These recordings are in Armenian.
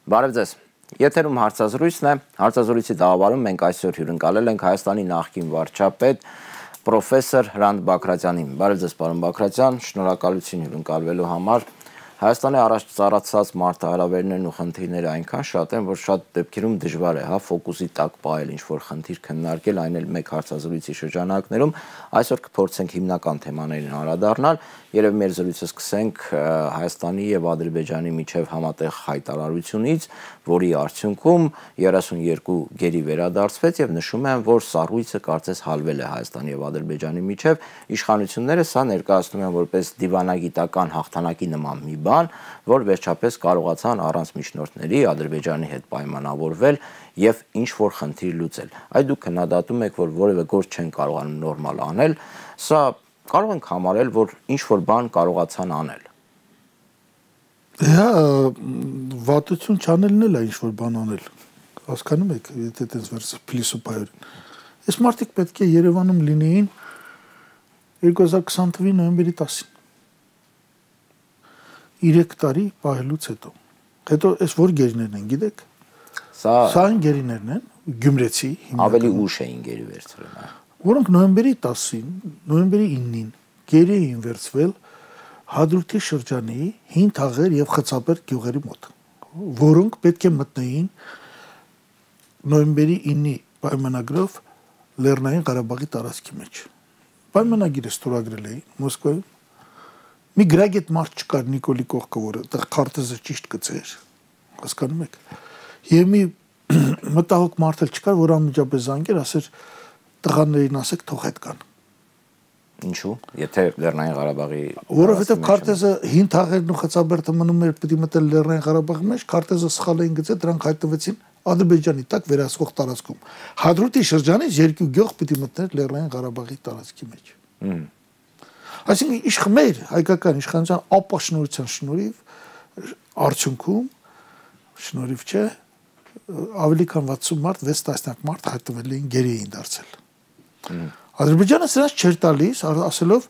Բարև ձեզ։ Եթերում հարցազրույցն է, հարցազրույցի տաղավարում մենք այսօր հյուրընկալել ենք Հայաստանի նախկին վարչապետ պրոֆեսոր Հրանտ Բագրատյանին։ Բարև ձեզ, պարոն Բագրատյան, շնորհակալություն հյուրընկալվելու համար։ Հայաստանի առաջ ծառացած մարտահրավերներն ու խնդիրները այնքան շատ են, որ շատ դեպքերում դժվար է, ֆոկուսի տակ պահել ինչ-որ խնդիր քննարկել, այն էլ մեկ հարցազրույցի շրջանակներում։ Այսօր կփորձենք հիմնական թեմաներին անդրադառնալ, երբ մեր զրույցը սկսենք Հայաստանի եւ Ադրբեջանի միջև համատեղ հայտարարությունից, որի արդյունքում 32 գերի վերադարձվեց եւ նշում են, որ սառույցը կարծես հալվել է Հայաստանի եւ Ադրբեջանի միջև։ Իշխանությունները սա ներկայացնում են որպես դիվանագիտական հաղթանակի նման մի բան, որ վերջապես կարողացան առանց միջնորդների Ադրբեջանի հետ պայմանավորվել եւ ինչ որ խնդիր լուծել։ Այդ դուք քննադատում եք, որ որևէ գործ չեն կարողանում նորմալ անել, սա կարող ենք համարել, որ ինչ որ բան կարողացան անել։ Հա, վատություն չանելն էլ է ինչ որ բան անել։ Հասկանում եք, եթե այդպես վերցի փիլիսոփայորեն։ Այս մարդիկ պետք է Երևանում լինեին 2020 թվականի նոյեմբերի 10-ին։ 3 տարի պահելուց հետո։ Հետո այս որ գերիներն են, գիտեք։ Սա այն գերիներն են, Գյումրեցի ավելի ուշ էին գերի վերցրել։ Որոնք նոյեմբերի 10-ին, նոյեմբերի 9-ին գերի էին վերցվել Հադրութի շրջանի Հին Թաղեր եւ Խցաբերդ գյուղերի մոտ, որոնք պետք է մտնեին նոյեմբերի 9-ի պայմանագրով Լեռնային Ղարաբաղի տարածքի մեջ։ Պայմանագիրը ստորագրել էին Մոսկվայում։ Մի գրագետ մարդ չկար Նիկոլի կողքը, որը այդտեղ քարտեզը ճիշտ գծեր, հասկանում եք։ Եվ մի մտահոգ մարդ էլ չկար, որ անմիջապես զանգեր, ասեր տղաներին ասեք թող հետ կան։ Ինչու՞, եթե Լեռնային Ղարաբաղի որովհետև քարտեզը Հին Թաղերն ու Խցաբերդը մնում էր պիտի մտել Լեռնային Ղարաբաղի մեջ, քարտեզը սխալ էին գծել, դրանք հայտնվեցին Ադրբեջանի տակ վերահսկող տարածքում։ Հադրութի շրջանից 2 գյուղ պիտի մտներ Լեռնային Ղարաբաղի տարածքի մեջ։ Այսինքն իշխմեր հայկական իշխանության ապաշնորհության շնորհիվ արդյունքում շնորհիվ չէ ավելի քան 60 մարդ 6 տասնյակ մարդ հայտնվել էին գերի էին դարձել։ Ադրբեջանը սրանց չէր տալիս, ասելով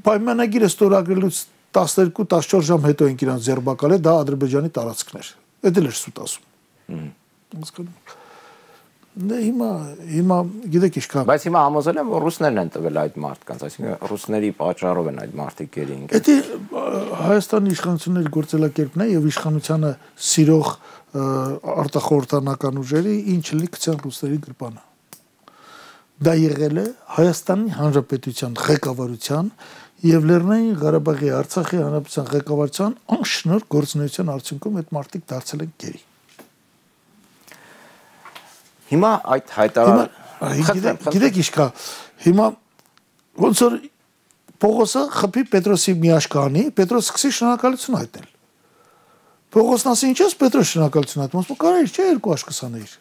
պայմանագիրը ստորագրելուց 12-14 ժամ հետո են իրանց ձերբակալել, դա Ադրբեջանի տարածքներ։ Դա էլ էր սուտ ասում։ Հասկանում։ Դե հիմա գիտեք ինչքան։ Բայց հիմա համոզել եմ, որ ռուսներն են տվել այդ մարդկանց, այսինքն ռուսների պատճառով են այդ մարդիկ գերի ընկել։ Դա Հայաստանի իշխանությունների գործելակերպն է եւ իշխանությանը սիրող արտախորհրդանական ուժերի ինչ լի գցեն ռուսների գրպանը։ Դա եղել է Հայաստանի Հանրապետության ղեկավարության եւ Լեռնային Ղարաբաղի Արցախի Հանրապետության ղեկավարության անշնորհ գործունեության արդյունքում այդ մարդիկ դարձել են գերի։ Հիմա այդ գիտեք ինչ կա, հիմա ոնց որ Պողոսը խփի Պետրոսի մի աշկանի, Պետրոսը սկսի շնորհակալություն հայտնել։ Պողոսն ասի ինչ ես Պետրոս շնորհակալություն հայտնում, ասում կարելի չէ 2 աշկս անել։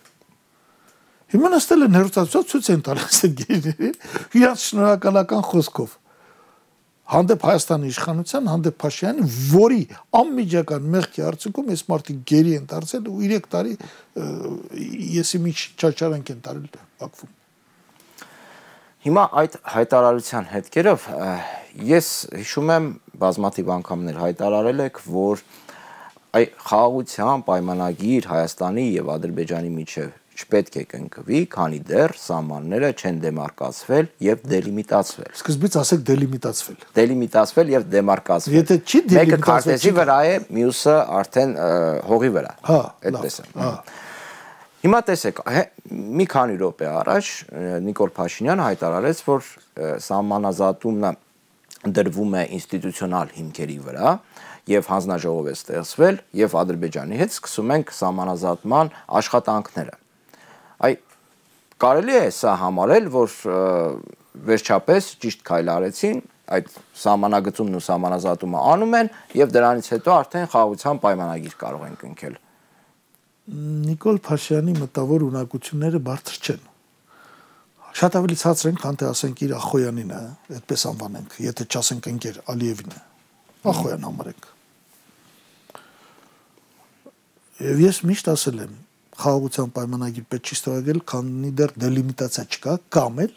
Հիմա նստել են հերոստատուսով ցույց են տալիս այդ գերիների իրանց շնորհակալական խոսքով։ Հանդեպ Հայաստանի իշխանության, հանդեպ Փաշինյանի, որի անմիջական մեղքի արդյունքում այս մարդիկ գերի են դարձել ու 3 տարի եսի մի չաչարանք են տարել Բաքվում։ Հիմա այդ հայտարարության հետքերով ես հիշում եմ բազմաթիվ անգամներ հայտարարել եք, որ խաղաղության պայմանագիր Հայաստանի եւ Ադրբեջանի միջև չպետք է կնքվի, քանի դեռ սահմանները չեն դեմարկացվել եւ դելիմիտացվել։ Սկզբից ասեք դելիմիտացվել։ Դելիմիտացվել եւ դեմարկացվել։ Եթե չի դելիմիտացվել, մեկը քարտեզի վրա է, մյուսը արդեն հողի վրա։ Այդպես է։ Հիմա տեսեք, մի քանի րոպե առաջ Նիկոլ Փաշինյանը հայտարարեց, որ սահմանազատումը դրվում է ինստիտուցիոնալ հիմքերի վրա եւ հանձնաժողով է ստեղծվել եւ Ադրբեջանի հետ սկսում ենք սահմանազատման աշխատանքները։ Կարելի է սա համարել, որ վերջապես ճիշտ քայլ արեցին, այդ սահմանագծումն ու սահմանազատումը անում են եւ դրանից հետո արդեն խաղաղության պայմանագիր կարող են կնքել։ Նիկոլ Փաշինյանի մտավոր ունակությունները բարձր չեն։ Շատ ավելի ցածր են, քան թե ասենք իր Ախոյանին, այդպես անվանենք, եթե չասենք ընկեր Ալիևին, Ախոյան համարենք։ Եվ ես միշտ ասել եմ, խաղաղության պայմանագիր պետք չի ստորագրել, քանի դեռ դելիմիտացիա չկա, կամ էլ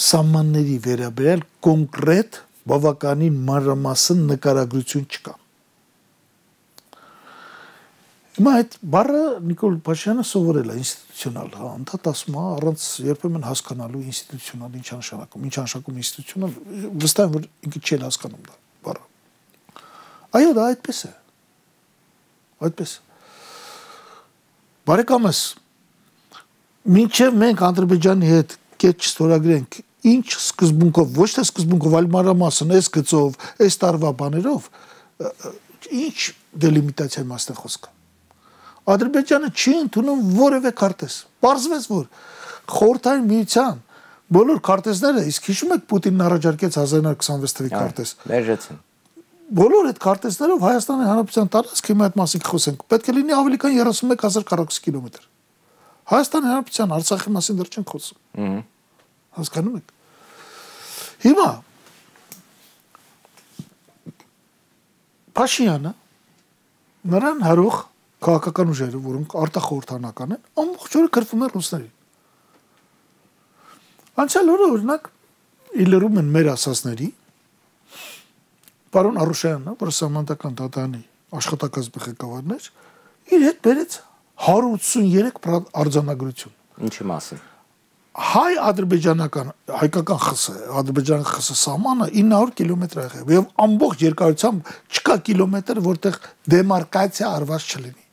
սահմանների վերաբերյալ կոնկրետ բավականին մանրամասն նկարագրություն չկա։ Հիմա այդ բառը Նիկոլ Փաշինյանը սովորել է ինստիտուցիոնալ, հա, անդադ ասում է առանց երբեմն հասկանալու ինստիտուցիոնալ ինչ նշանակում ինստիտուցիոնալ, վստահ եմ որ ինքը չի հասկանում դա բառը։ Այո, դա այդպես է։ Այդպես։ Բարեկամս, մինչև մենք Ադրբեջանի հետ կետ չստորագրենք, ինչ սկզբունքով, ոչ թե սկզբունքով, այլ մանրամասն այս գծով, այս տարվա բաներով, ինչ դելիմիտացիա մասն է խոսքը։ Ադրբեջանը չի ընդունում որևէ քարտեզ։ Պարզվեց, որ խորհրդային միության բոլոր քարտեզները, իսկ հիշում եք Պուտինն առաջարկեց 1926 թվականի քարտեզ։ Մերժեցին։ Բոլոր այդ քարտեզներով Հայաստանի Հանրապետության տարածքը հիմա այդ մասին խոսենք, պետք է լինի ավելի քան 31000 քառակուսի կիլոմետր։ Հայաստանի Հանրապետության Արցախի մասին դեռ չենք խոսում։ Հասկանում եք։ Հիմա Փաշինյանը նրան հարող քաղաքական ուժերը, որոնք արտախորհրդանական են, ամբողջ օրը քրվում են ռուսներին։ Անցյալ օրը օրինակ իլերում են մեր ասածների պարոն Արուշյանն, որը սահմանադրական դատարանի աշխատակազմի ղեկավարն էր, իր հետ բերեց 183 արձանագրություն։ Ինչի մասին։ Հայ-ադրբեջանական, հայկական ԽՍՀ, ադրբեջանական ԽՍՀ սահմանը 900 կիլոմետր է եղել եւ ամբողջ երկարությամբ չկա կիլոմետր, որտեղ դեմարկացիա արված չլինի։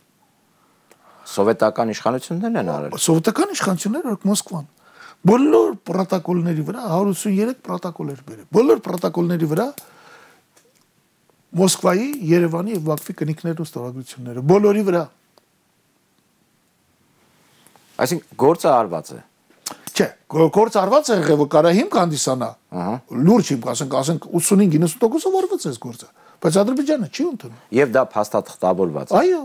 Սովետական իշխանություններն են արել։ Սովետական իշխանությունները, օրինակ Մոսկվան, բոլոր պրոտոկոլների վրա 183 պրոտոկոլ էր բերել։ Բոլոր պրոտոկոլների վրա Մոսկվայի, Երևանի եւ Բաքվի կնիկներու ստորագրությունները, բոլորի վրա։ Այսինքն գործը արված է։ Չէ, գործ արված է եղել, որ կարա հիմք հանդիսանա։ Լուրջ հիմք, ասենք 85-90%-ով արված է այս գործը, բայց Ադրբեջանը չի ընդունում։ Եվ դա փաստաթղթավորված է։ Այո,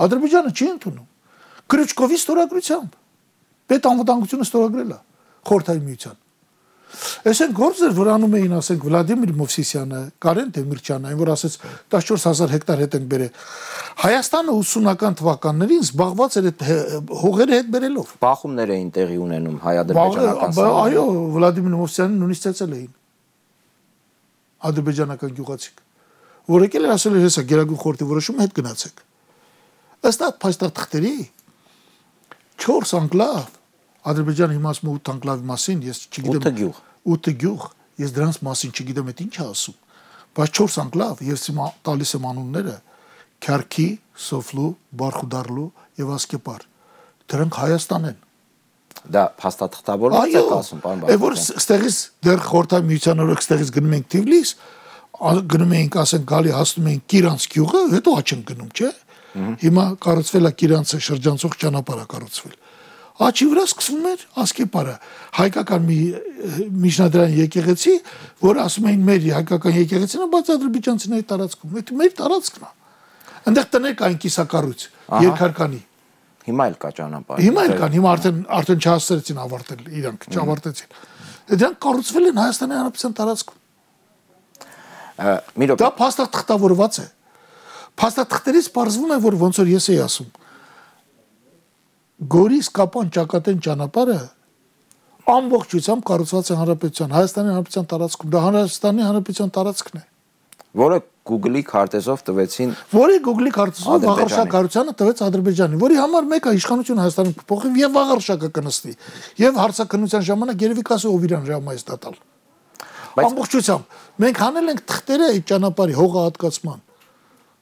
Ադրբեջանը չի ընդունում։ Կրուչկովի ստորագրությամբ պետանվտանգությունը ստորագրել է խորհրդային միության։ Այսինքն գործեր, որ անում էին, ասենք Վլադիմիր Մովսիսյանը, Կարեն Դեմիրճյանը, այն որ ասեց 14000 հեկտար հետ են բերել։ Հայաստանը 80-ական թվականներին զբաղված էր այդ հողերը հետ բերելով։ Բախումներ էին տեղի ունենում հայ-ադրբեջանական սահմանում։ Այո, Վլադիմիր Մովսիսյանին նույնիսկ ծեծել էին ադրբեջանական գյուղացիք, որ եկել էր ասել էր հեսա Գերագույն խորհրդի որոշումը հետ գնացեք։ Ըստ այդ փաստաթղթերի 4 անկլավ Ադրբեջանը հիմա ասում է 8 անկլավի մասին, ես չգիտեմ 8 գյուղ, ես դրանց մասին չգիտեմ այդ ինչ է ասում, բայց 4 անկլավ, ես հիմա տալիս եմ անունները Քյարքի, Սոֆլու, Բարխուդարլու եւ Ասկեպար։ Դրանք Հայաստան են։ Դա փաստաթղթավորված է ասում, պարոն Բաղդասարյան։ Այո, որ ստեղից դեռ խորհրդային միության օրոք ստեղից գնում ենք Թիֆլիս, գնում ենք, ասենք, գալի հասնում ենք Կիրանց գյուղը, հետո աչ են գնում, չէ՞։ Հիմա կառուցվել է Կիրանցը շրջանցող ճանապարհ կառուցվել։ Աչի վրա սկսվում էր Ասկեպարը, հայկական մի միջնադարային եկեղեցի, որ ասում էին մեր հայկական եկեղեցին է, բայց ադրբեջանցիների տարածքում, դա մեր տարածքն է։ Այնտեղ տներ կային կիսակառույց, երկհարկանի։ Հիմա էլ կա ճանապարհ։ Հիմա էլ կան, հիմա արդեն չհասցրեցին ավարտել, իրանք չավարտեցին։ Դրանք կառուցվել են Հայաստանի Հանրապետության տարածքում։ Դա փաստաթղթավորված է։ Փաստաթղթերից պարզվում է, որ ոնց որ ես էի ասում, Գորիս Կապան Ճակատեն ճանապարհը ամբողջությամբ կառուցված է Հանրապետության, Հայաստանի Հանրապետության տարածքում, դա Հայաստանի Հանրապետության տարածքն է, որը Google-ի քարտեզով տվեցին, որի Google-ի քարտեզով վաղարշակարությանը տվեց Ադրբեջանին, որի համար մեկը իշխանությունը Հայաստանում կփոխի եւ վաղարշակը կնստի, եւ հարցակնության ժամանակ երևի կասի ով իրան ժամայից տալ։ Ամբողջությամբ մենք հանել ենք թղթերը այդ ճանապարհի հողահատկացման։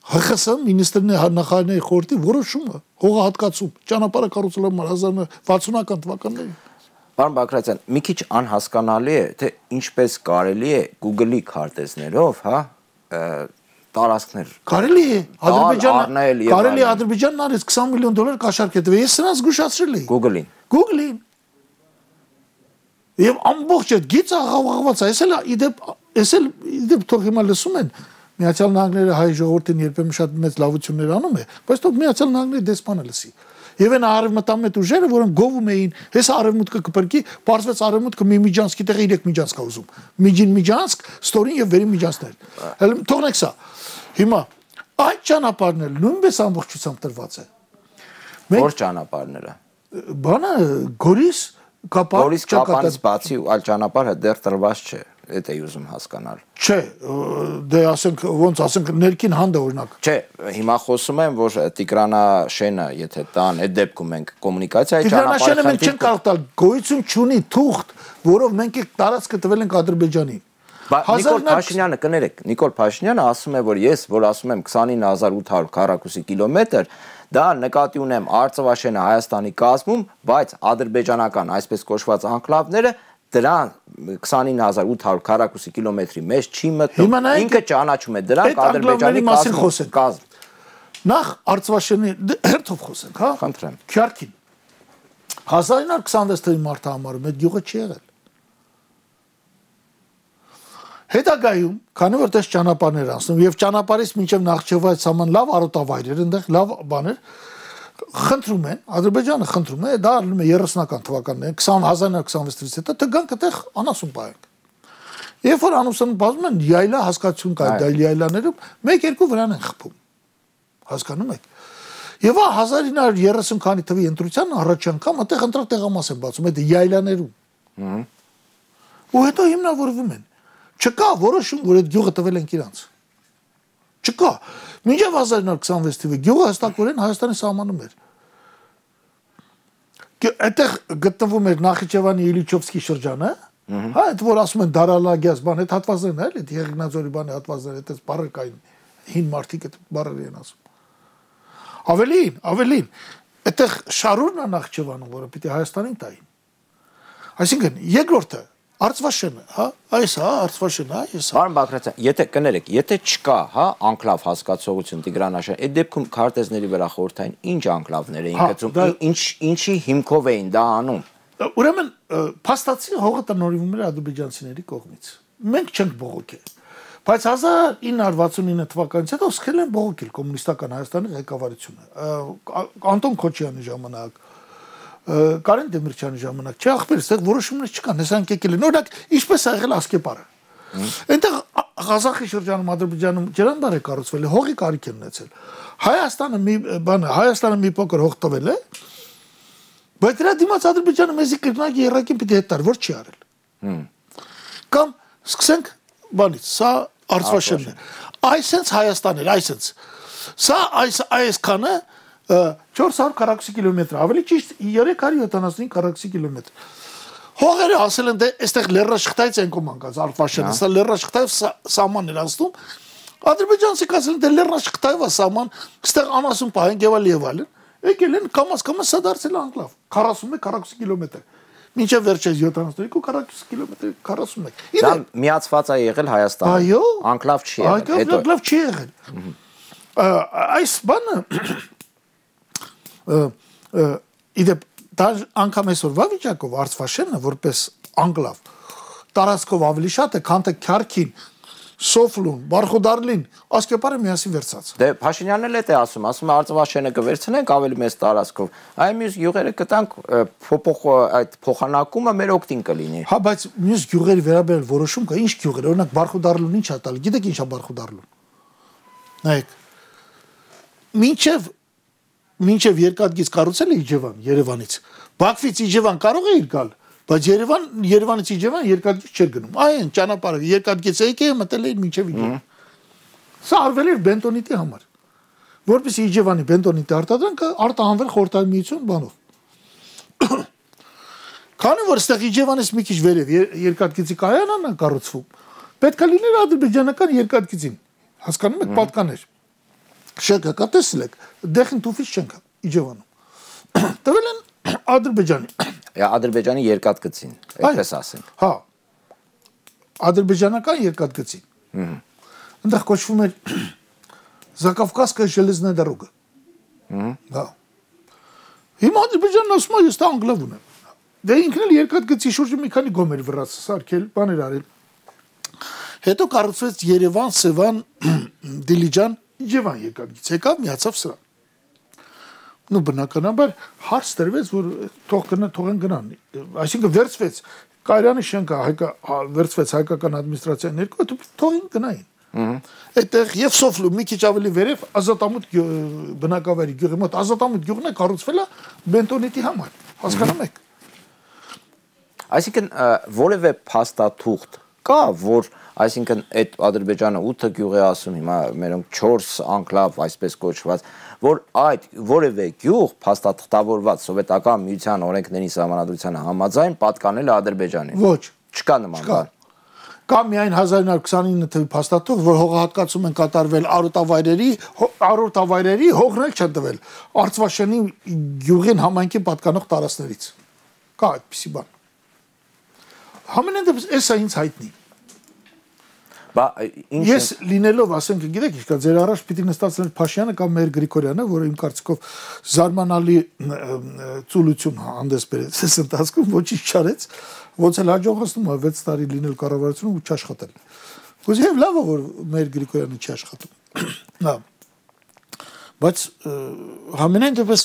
ՀԽՍ մինիստրների նախարարների խորհրդի որոշումը հողահատկացում ճանապարհը կառուցել են 1960-ական թվականներին։ Պարոն Բագրատյան, մի քիչ անհասկանալի է, թե ինչպես կարելի է Google-ի քարտեզներով, հա, տարածքներ։ Կարելի է Ադրբեջանն արեց $20 միլիոն կաշառք է տվել։ Ես սրանց զգուշացրել էի։ Google-ին։ Եվ ամբողջ այդ գիծը աղաղաղված է, էս էլ թող հիմա լսում են Միացյալ Նահանգները հայ ժողովրդին երբեմն շատ մեծ լավություններ անում է, բայց թող Միացյալ Նահանգների դեսպանը լսի։ Եվ այն արևմտամետ ուժերը, որոնք գովում էին, հեսա արևմուտքը կփրկի, պարզվեց արևմուտքը մի միջանցքի տեղը 3 միջանցք է ուզում։ Միջին միջանցք, ստորին եւ վերին միջանցքներ։ Թողնեք սա։ Հիմա այդ ճանապարհն էլ նույնպես ամբողջությամբ տրված է։ Որ ճանապարհները։ Բանը Գորիս Կապանից բացի այլ ճանապարհը դեռ տրված չէ։ Էդ էի ուզում հասկանալ։ Չէ, դե ասենք ոնց ասենք ներքին հանդը օրինակ։ Չէ, հիմա խոսում եմ, որ Տիգրանաշենը, եթե տան, այդ դեպքում մենք կոմունիկացիայի ճանապարհի մենք չենք կարող տալ, գոյություն չունի թուղթ, որով մենք այդ տարածքը տվել ենք Ադրբեջանին։ Նիկոլ Փաշինյանը կներեք, Նիկոլ Փաշինյանը ասում է, որ ես, որ ասում եմ 29800 քառակուսի կիլոմետր, դա նկատի ունեմ Արցախաշենը Հայաստանի կազմում, բայց ադրբեջանական այսպես կոչված անկլավները դրան 29800 քառակուսի կիլոմետրի մեջ չի մտնում։ Ինքը ճանաչում է դրանք Ադրբեջանի կազմ։ Նախ Արցախաշենի հերթով խոսենք, հա։ Խնդրեմ։ Քյարքին 1926 թվականի մարտը համարում այդ գյուղը չի եղել։ Հետագայում, քանի որ դες ճանապարհներ անցնում եւ ճանապարհից մինչեւ Նախճեվայց սահման լավ արոտավայրեր, այնտեղ լավ բաներ խնդրում են, Ադրբեջանը խնդրում է, դա արվում է 30-ական թվականներին, 1926-ից հետո դրանք այդտեղ անասուն պահենք։ Երբ որ անասուն բազում են, յայլա հասկացություն կա դա յայլաներում, 1-2 վրան են խփում։ Հասկանում եք։ Եվ 1930 քանի թվի ընտրության առաջ անգամ այդտեղ ընտրակ տեղամաս են բացում, այդ յայլաներում։ Ու հետո հիմնավորվում են։ Չկա որոշում, որ այդ գյուղը տվել ենք իրանց։ Չկա։ Մինչև 1926 թվականի գյուղը հստակորեն Հայաստանի սահմանում էր։ Այդտեղ գտնվում էր Նախիջևանի Իլիչովսկի շրջանը, հա, այդ որ ասում են Դարալագյաս բան, այդ հատվածներն էլ, այդ Եղիգնաձորի բանի հատվածները, այդպես բառեր կային, հին մարդիկ այդ բառեր են ասում։ Ավելին, այդտեղ շարուրն է Նախիջևանում, որը պիտի Հայաստանին տային։ Այսինքն, երկրորդը Արցախաշենը, հա, այս հա, Արցախաշենը, հա, ես։ Պարոն Բագրատյան, եթե կներեք, եթե չկա, հա, անկլավ հասկացողություն Տիգրանաշեն, այդ դեպքում քարտեզների վրա խորհրդային ինչ անկլավներ էին գծում, ինչի հիմքով էին դա անում։ Ուրեմն, փաստացի հողը տնօրինվում էր ադրբեջանցիների կողմից։ Մենք չենք բողոքել։ Բայց 1969 թվականից հետո սկսել են բողոքել կոմունիստական Հայաստանի ղեկավարությունը։ Անտոն Քոչյանի ժամանակ Կարեն Դեմիրճյանի ժամանակ չէ ախպեր, այստեղ որոշումներ չկան, հեսանք եկել են։ Օրինակ, ինչպես ա եղել Ասկեպարը։ Այնտեղ Ղազախի շրջանում Ադրբեջանում ջրանբար է կառուցվել, հողի կարիք են ունեցել։ Հայաստանը մի փոքր հող տվել է, բայց դրա դիմաց Ադրբեջանը մեզի կրնակի երակին պիտի հետ տար, որ չի արել։ Կամ սկսենք բանից, սա Արցախաշենն է։ Այսենց Հայաստան էր, այսենց։ Սա այսքանը 400 քառակուսի կիլոմետր, ավելի ճիշտ 375 քառակուսի կիլոմետր։ Հողերը ասել են դե այստեղ լեռնաշխտայից են կոմանկած Արցախաշենը, սա լեռնաշխտայով սահմանն էր անցնում։ Ադրբեջանցիք ասել են դե լեռնաշխտայով է սահման, այստեղ անասուն պահենք եւ այլն։ Եկել են կամաց սա դարձել անկլավ, 41 քառակուսի կիլոմետր։ Մինչև վերջերս 72 քառակուսի կիլոմետր 41։ Դա միացված է եղել Հայաստանը։ Այո։ Անկլավ չի եղել։ Այո, անկլավ չի եղել։ Այս բանը իդեպ դա անգամ այսօրվա վիճակով Արցախաշենը որպես անկլավ տարածքով ավելի շատ է, քան թե Քյարքին, Սոֆլուն, Բարխուդարլին, Ասկեպարը միասին վերցած։ Դե Փաշինյանն էլ է ասում է Արցախաշենը կվերցնենք ավելի մեծ տարածքով։ Այ մյուս գյուղերը կտանք այդ փոխանակումը մեր օգտին կլինի։ Հա, բայց մյուս գյուղերի վերաբերյալ որոշում կա, ինչ գյուղեր, օրինակ Բարխուդարլուն ինչ է տալ։ Գիտեք ինչ է Բարխուդարլուն։ Նայեք։ Մինչև երկաթգիծ կառուցել է Իջևան Երևանից։ Բաքվից Իջևան կարող է իր գալ, բայց Երևանից Իջևան երկաթգիծ չէր գնում։ Այն ճանապարհը երկաթգիծ եկել մտել էր մինչև Իջևան։ Սա արվել էր բենտոնիտի համար։ Որպեսզի Իջևանի բենտոնիտի արտադրանքը արտահանվել Խորհրդային Միություն բանով։ Քանի որ այստեղ Իջևանից մի քիչ վերև երկաթգիծի կայանն է կառուցվում, պետք է լիներ ադրբեջանական երկաթգիծին։ Հասկանում եք, պատկաներ։ Շենքը կա, տեսել եք, դեղին տուֆից չենք Իջևանում։ Տվել են Ադրբեջանի։ Ադրբեջանի երկաթգծին, այդպես ասենք։ Հա։ Ադրբեջանական երկաթգծին։ Այնտեղ կոչվում էր Закавказская железная дорога։ Հա։ Հիմա Ադրբեջանն ասում է, ես դա անգլավ ունեմ։ Դե ինքն էլ երկաթգծի շուրջը մի քանի գոմեր վրաց սարքել, բաներ արել։ Հետո կառուցվեց Երևան, Սևան, Դիլիջան Իջևան երկաթգիծ եկավ, միացավ սրան։ Նու բնականաբար հարց տրվեց, որ թողեն գնան։ Այսինքն վերցվեց Կայարանի շենքը վերցվեց հայկական ադմինիստրացիան ներքո, թողին գնային։ Այդտեղ եւ Սոֆլու մի քիչ ավելի վերև Ազատամուտ բնակավայրի գյուղի մոտ Ազատամուտ գյուղն է կառուցվել է բենտոնիտի համար։ Հասկանում եք։ Այսինքն որևէ փաստաթուղթ կա, որ այսինքն այդ Ադրբեջանը 8 գյուղ է ասում, հիմա մերոնք 4 անկլավ, այսպես կոչված, որ այդ որևէ գյուղ փաստաթղթավորված սովետական միության օրենքների սահմանադրությանը համաձայն պատկանել է Ադրբեջանին։ Ոչ, չկա նման բան։ Կա միայն 1929 թվականի փաստաթուղթ, որ հողահատկացում են կատարվել արոտավայրերի հողներ չեն տվել Արցվաշենի գյուղին համայնքի պատկանող տարածքներից։ Կա այդպիսի բան։ Համենայն դեպս էսա ինձ հայտնի։ Բա Ես լինելով, ասենք, գիտեք, ինչ կա, ձեր առաջ պիտի նստածներ Փաշյանը կամ Մհեր Գրիգորյանը, որը իմ կարծիքով զարմանալի ծուլություն հանդես բերեց այս ընթացքում, ոչինչ չարեց, ոնց էլ հաջողացնում է 6 տարի լինել կառավարությունում ու չաշխատել։ Ուզիև լավ է, որ Մհեր Գրիգորյանը չի աշխատում։ Նա բայց համենայն դեպս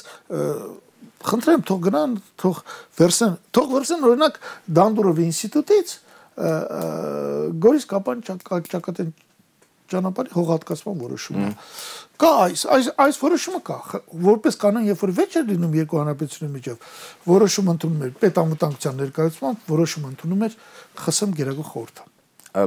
խնդրեմ թող գնան, թող վերցնեն օրինակ Դանդուրովի ինստիտուտից Գորիս Կապան ճակատեն ճանապարհի հողատկացման որոշումը։ Կա այս որոշումը կա, որպես կանոն, երբ որ վեճ էր լինում երկու հանրապետությունների միջև, որոշում ընդունում էր պետանվտանգության ներկայացմամբ, որոշում ընդունում էր ԽՍՀՄ Գերագույն խորհուրդը։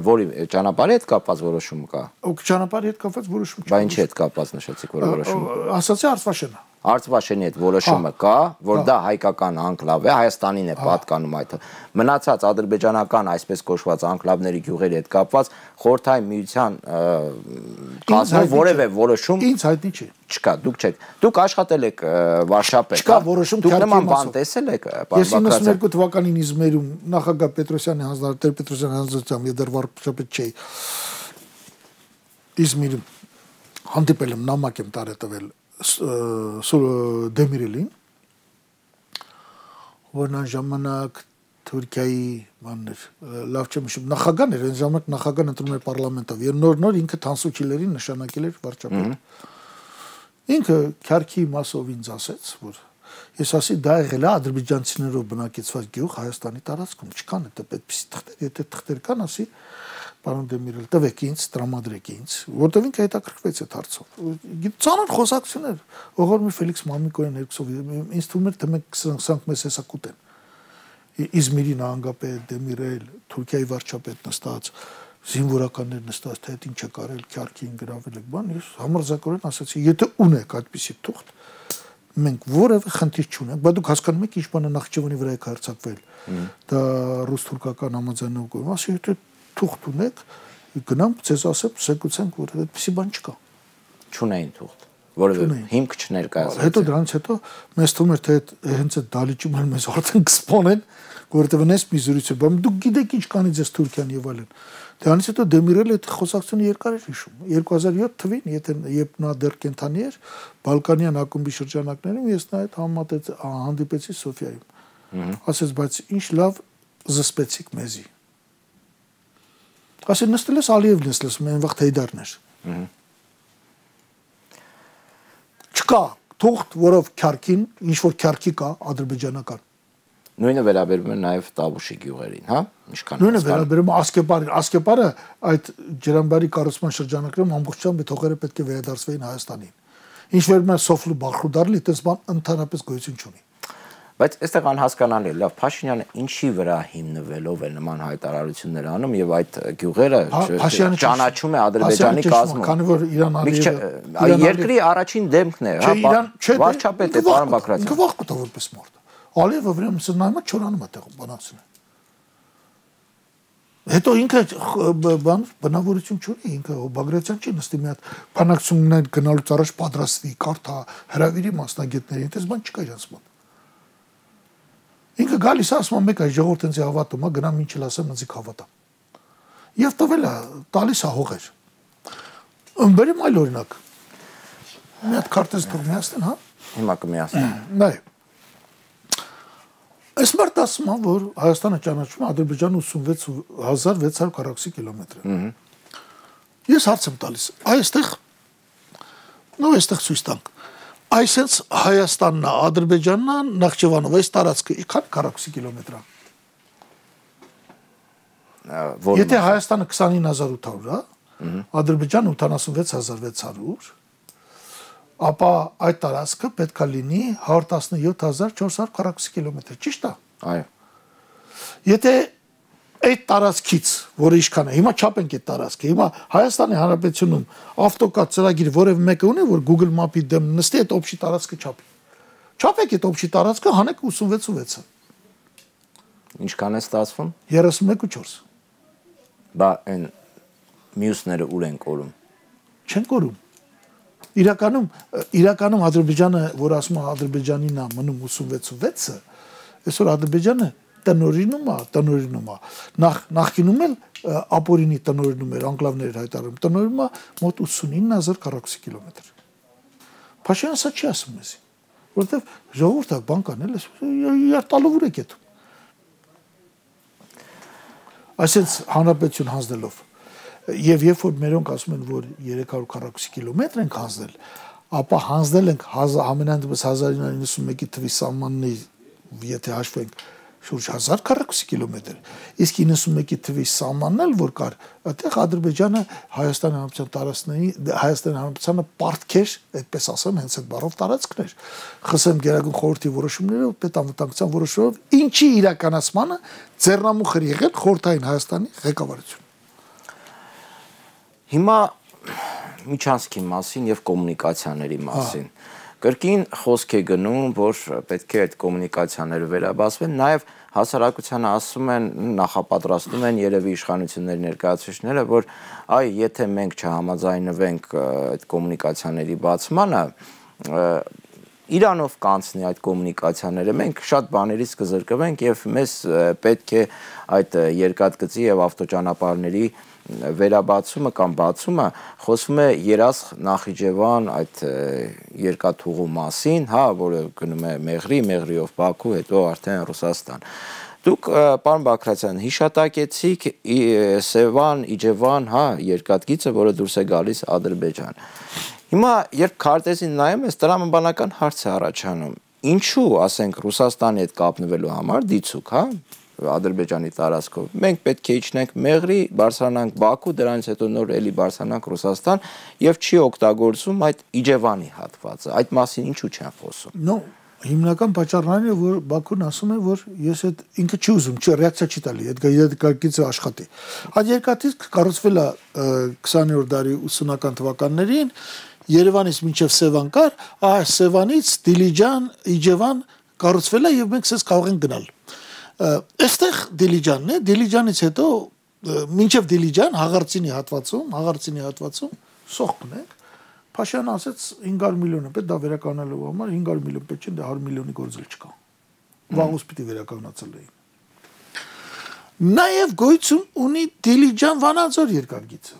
Որի ճանապարհի հետ կապված որոշումը կա։ Ճանապարհի հետ կապված որոշում չկա։ Բա ինչի հետ կապված նշեցիք որ որոշումը։ Ասացի Արցվաշենը։ Արցվաշենի հետ որոշումը կա, որ դա հայկական անկլավ է, Հայաստանին է պատկանում այդ։ Մնացած ադրբեջանական այսպես կոչված անկլավների գյուղերի հետ կապված խորհրդային միության կազմող որևէ որոշում ինձ հայտնի չէ։ Չկա, դուք չեք։ Դուք աշխատել եք Վարշապետ։ Չկա որոշում դուք նման բան տեսել եք։ Ես 92 թվականին Իզմիրում նախագահ Պետրոսյանի հանձնարարել Պետրոսյանի հանձնարարությամբ դեռ Վարշապետ չէի։ Իզմիրում հանդիպել եմ նամակ եմ տարել Դեմիրելին, որն այն ժամանակ Թուրքիայի բաններ, լավ չեմ հիշում, նախագահն էր, այն ժամանակ նախագահն ընտրում էր պարլամենտով, եւ նոր ինքը Թանսուչիլերին նշանակել էր վարչապետ։ Ինքը քարքի մասով ինձ ասեց, որ ես ասի դա եղել է ադրբեջանցիներով բնակեցված գյուղ Հայաստանի տարածքում, չկան դա այդպիսի թղթեր, եթե թղթեր կան, ասի Պարոն Դեմիրել, տվեք ինձ, տրամադրեք ինձ, որտեղ ինքը հետաքրքրվեց այդ հարցով։ Ծանր խոսակցություններ, Ողորմի Ֆելիքս Մամիկոյան երկուսով ինձ թվում էր թե մենք սրանք մեզ հեսա կուտեն։ Իզմիրի նահանգապետ Դեմիրել, Թուրքիայի վարչապետ նստած, զինվորականներ նստած, թե այդ ինչ է կարել, քյարքին գրավել եք, բան, ես համարձակորեն ասացի, եթե ունեք այդպիսի թուղթ, մենք որևէ խնդիր չունենք, բայց դուք հասկանում եք ինչ բանը Նախճեվանի վրա է հարձակվել։ Դա ռուս-թուրքական համաձայնագրում, ասի եթե թուղթ ունեք, գնամ ձեզ ասեմ, զեկուցենք, որ այդպիսի բան չկա։ Չունեին թուղթ, որովհետեւ հիմք չներկայացրեց։ Հետո դրանից հետո մեզ թվում էր թե հենց այդ դալիճում են մեզ արդեն կսպոնեն, որովհետեւ նես մի զրույց է, բայց դուք գիտեք ինչ կանի ձեզ Թուրքիան եւ այլն։ Դրանից հետո Դեմիրելը այդ խոսակցությունը երկար էր հիշում։ 2007 թվականին, երբ նա դեռ կենթանի էր, Բալկանյան ակումբի շրջանակներում ես նա այդ հանդիպեցի Սոֆիայում։ Ասեց, բայց ինչ լավ զսպեցիք մեզի։ Ասել նստել ես Ալիևն ես լսում, այն վաղ Հեյդարն էր։ Չկա թուղթ, որով քյարքին, ինչ որ քյարքի կա ադրբեջանական։ Նույնը վերաբերում է նաև Տավուշի գյուղերին, հա? Ինչքան նույնը վերաբերում է Ասկեպարին։ Ասկեպարը այդ ջրամբարի կառուցման շրջանակներում ամբողջությամբ այդ հողերը պետք է վերադարձվեին Հայաստանին։ Ինչ վերաբերում է Սոֆլու Բախրուդարլի, այդպես բան ընդհանրապես գոյություն չունի։ Բայց այստեղ անհասկանալի է, լավ, Փաշինյանը ինչի վրա հիմնվելով է նման հայտարարություններ անում եւ այդ գյուղերը ճանաչում է Ադրբեջանի կազմում։ Քանի որ Իրան երկրի առաջին դեմքն է, հա, վարչապետ է պարոն Բագրատյան։ Ինքը վախ կտա որպես մարդ։ Ալիևը վրան սնայմա չորանում է տեղում բանացին։ Հետո ինքը բնավորություն չունի, ինքը Բագրատյան չի նստի մի հատ բանակցություններ գնալուց առաջ պատրաստվի, կարդա, հրավիրի մասնագետներին, այդպես բան չկա իրանց մոտ։ Ինքը գալիս է ասում մեկ այ ժողովուրդ ինձ հավատում է, գնամ ինչ էլ ասեմ, ինձ հավատա։ Եվ տվել է, տալիս է հողեր։ Բերեմ այլ օրինակ։ Մի հատ քարտեզ թող միացնեն, հա։ Հիմա կմիացնեն։ Նայ։ Այս մարդ ասում է, որ Հայաստանը ճանաչում է Ադրբեջանը 86600 քառակուսի կիլոմետր։ Ես հարց եմ տալիս։ Այստեղ ցույց տանք։ Այսինքն Հայաստանն է, Ադրբեջանն է, Նախճեվանով, այս տարածքը ինչքան քառակուսի կիլոմետր է։ Եթե Հայաստանը 29800 է, Ադրբեջանը 76600, ապա այդ տարածքը պետք է լինի 117400 քառակուսի կիլոմետր, ճիշտ է։ Այո։ Եթե այդ տարածքից, որը ինչքան է։ Հիմա չափենք այդ տարածքը։ Հիմա Հայաստանի Հանրապետությունում ավտոկադ ծրագիր որևէ մեկը ունի, որ Google Map-ի դեմ նստի այդ օբշի տարածքը չափի։ Չափեք այդ օբշի տարածքը, հանեք 86.6-ը։ Ինչքան է ստացվում։ 31.4։ Բա այն մյուսները ուր են կորում։ Չեն կորում։ Իրականում Ադրբեջանը, որ ասում է Ադրբեջանին է մնում 86.6-ը, այսօր Ադրբեջանը տնօրինում է։ Նախկինում էլ ապօրինի տնօրինում էր, անկլավներ հայտարարում, տնօրինում է մոտ 89,000 քառակուսի կիլոմետր։ Փաշինյանը սա չի ասում մեզ, որովհետև ժողովուրդը բան կանել է, իր տալով ուր է կետում։ Այսինքն հանրապետություն հանձնելով եւ երբ որ մերոնք ասում են, որ 300 քառակուսի կիլոմետր ենք հանձնել, ապա հանձնել ենք ամենայն դեպս 1991-ի թվի սահմանների, եթե հաշվենք շուրջ 1000 քառակուսի կիլոմետր, իսկ 91-ի թվի սահմանն էլ որ կար, այդտեղ Ադրբեջանը Հայաստանի Հանրապետության տարածքների Հայաստանի Հանրապետությանը պարտքեր, այդպես ասեմ, հենց այդ բառով տարածքներ, ԽՍՀՄ Գերագույն խորհրդի որոշումներով, պետանվտանգության որոշումներով, ինչի իրականացմանը ձեռնամուխ էր եղել խորհրդային Հայաստանի ղեկավարությունը։ Հիմա միջանցքի մասին եւ կոմունիկացիաների մասին կրկին խոսք է գնում, որ պետք է այդ կոմունիկացիաները վերաբացվեն, նաեւ հասարակությանը ասում են, նախապատրաստում են երևի իշխանությունների ներկայացուցիչները, որ այ եթե մենք չհամաձայնվենք այդ կոմունիկացիաների բացմանը, Իրանով կանցնի այդ կոմունիկացիաները, մենք շատ բաներից կզրկվենք եւ մեզ պետք է այդ երկաթգծի եւ ավտոճանապարհների վերաբացումը կամ բացումը խոսվում է Երասխ Նախիջևան այդ երկաթուղու մասին, հա, որը գնում է Մեղրիով Բաքու, հետո արդեն Ռուսաստան։ Դուք, պարոն Բագրատյան, հիշատակեցիք Սևան, Իջևան, հա, երկաթգիծը, որը դուրս է գալիս Ադրբեջան։ Հիմա, երբ քարտեզին նայում ես, տրամաբանական հարց է առաջանում։ Ինչու, ասենք, Ռուսաստանի հետ կապնվելու համար դիցուք, հա, Ադրբեջանի տարածքով։ Մենք պետք է իջնենք Մեղրի, բարձրանանք Բաքու, դրանից հետո նոր էլի բարձրանանք Ռուսաստան եւ չի օգտագործում այդ Իջևանի հատվածը։ Այդ մասին ինչու չեն խոսում։ Նո, հիմնական պատճառն այն է, որ Բաքուն ասում է, որ ես այդ ինքը չի ուզում, ռեակցիա չի տալի, այդ երկաթգիծը աշխատի։ Այդ երկաթգիծը կառուցվել է 20-րդ դարի 80-ական թվականներին, Երևանից մինչև Սևան կար, Սևանից Դիլիջան, Իջևան կառուցվել է եւ մենք ցես կարող ենք գնալ։ Այստեղ Դիլիջանն է, Դիլիջանից հետո մինչև Դիլիջան Հաղարծինի հատվածում սոխքն է։ Փաշինյանը ասեց 500 միլիոն է պետք դա վերականգնելու համար 500 միլիոն պետք չէ, դա 100 միլիոնի գործել չկա։ Վաղուց պիտի վերականգնացել էին։ Նաև գոյություն ունի Դիլիջան-Վանաձոր երկաթգիծը,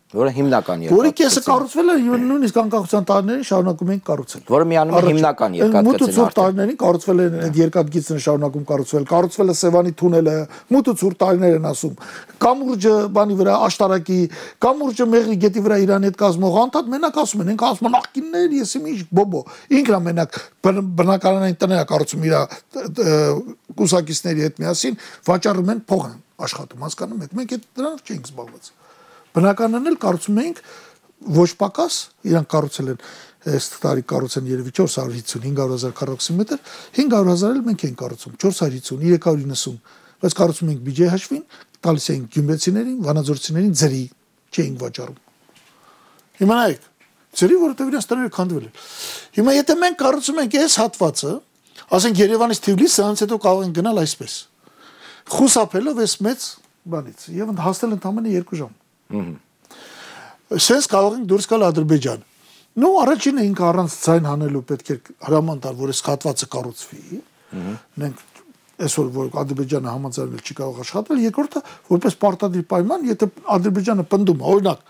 որը հիմնական երկաթգիծ է։ Որի կեսը կառուցվել է նույնիսկ անկախության տարիներին շարունակում են կառուցել։ Որը միանում է հիմնական երկաթգիծն է։ Մութ տարիներին կառուցվել են այդ երկաթգիծն շարունակում կառուցվել է Սևանի թունելը, մութ տարիներ են ասում։ Կամուրջը բանի վրա աշտարակի, Կամուրջը Մեղրի գետի վրա Իրանի հետ կազմող անդադ մենակ ասում են, ինքը ասում է նախկիններ, ես ինչ բոբո։ Ինքն է մենակ բնակարանային տներ կառուցում իր կուսակիցների հետ միասին, վաճառում են փող աշխատում, հասկանում եք։ Մենք այդ դրանով չենք զբաղված։ Բնականն էլ կառուցում էինք ոչ պակաս, իրանք կառուցել են այս տարի կառուցեն երևի 450-500,000 քառակուսի մետր, 500,000 էլ մենք ենք կառուցում, 450, 390, բայց կառուցում ենք բյուջեի հաշվին, տալիս էինք գյումրեցիներին, վանաձորցիներին ձրի, չէինք վաճառում։ Հիմա նայեք, ձրի, որովհետև իրենց տները քանդվել են։ Հիմա եթե մենք կառուցում ենք այս հատվածը, ասենք Երևանից Թիֆլիս, սրանից հետո կարող ենք գնալ այսպես, խուսափելով այս մեծ բանից, եւ հասնել ընդամենը 2 ժամ։ Սենց կարող ենք դուրս գալ Ադրբեջան։ Նո, առաջինը ինքը առանց ձայն հանելու պետք է հրաման տալ, որ այս հատվածը կառուցվի։ Մենք այսօր որ Ադրբեջանը համաձայնել չի կարող աշխատել, երկրորդը որպես պարտադիր պայման, եթե Ադրբեջանը պնդում է, օրինակ,